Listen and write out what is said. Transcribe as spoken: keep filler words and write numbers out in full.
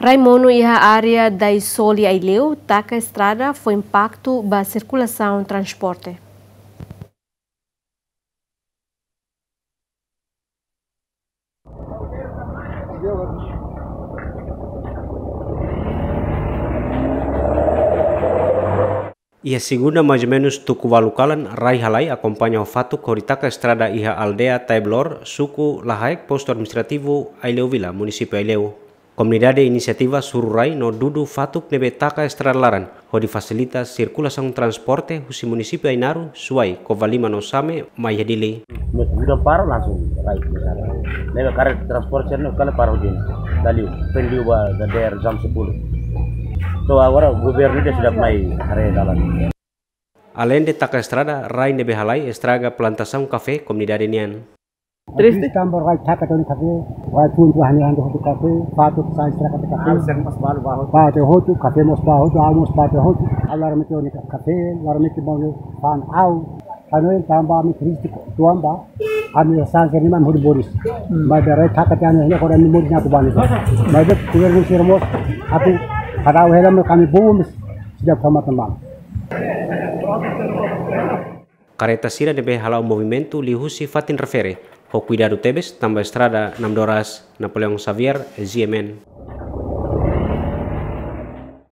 Rai monu iha área Daisoli Aileu taka estrada fó impaktu ba sirkulasaun transporte. Iha segunda, mais ou menus tuku ualu kalan, rai halai akompaña ho fatuk hodi taka estrada iha aldeia Taeblor, suku Lahaek, postu administrativu Aileu Vila, munisípiu Aileu. Komunidade inisiativa suru rai no dudu fatuk ne'ebé taka estrada laran, hodi fasilita sirkulasaun transporte husi munisípiu Ainaro, Suai, Covalima no Same, mai iha Dili. Udah paro langsung rai ke sana. Ne'ebé karet transporte ne'e kala paro di. Dali, pendiu ba dadeer jam sepuluh. So, agora governu de'it sudah mai haree dalan. Aleinde taka estrada, rai ne'ebé halai estraga plantasaun kafé komunidade nian. Triste. Triste tanba rai taka tiha ona kafé, rai tun tu hani ando tu kafé, fatuk sai estraga tiha kafé. Alu seng mas balu ba hotu. Ba tiha hotu, kafé mós ba hotu, alu mós ba tiha hotu. Alu laran mete ona kafé, laran mete ba fa'an alu. Anu tanba ami triste tanba ami sanse ni man hodi boris. Hmm. Maibé rai taka tiha ona, hanya koran ni boris nyatu bani. Maibé governu sira mós atu kada hela ami boris. Sejak sama teman. Kareta sira ne'ebé hala'o movimentu liuhusi fatin refere, ho kuidadu tebes tanba estrada Namdoras. Napoleão Xavier, G M N.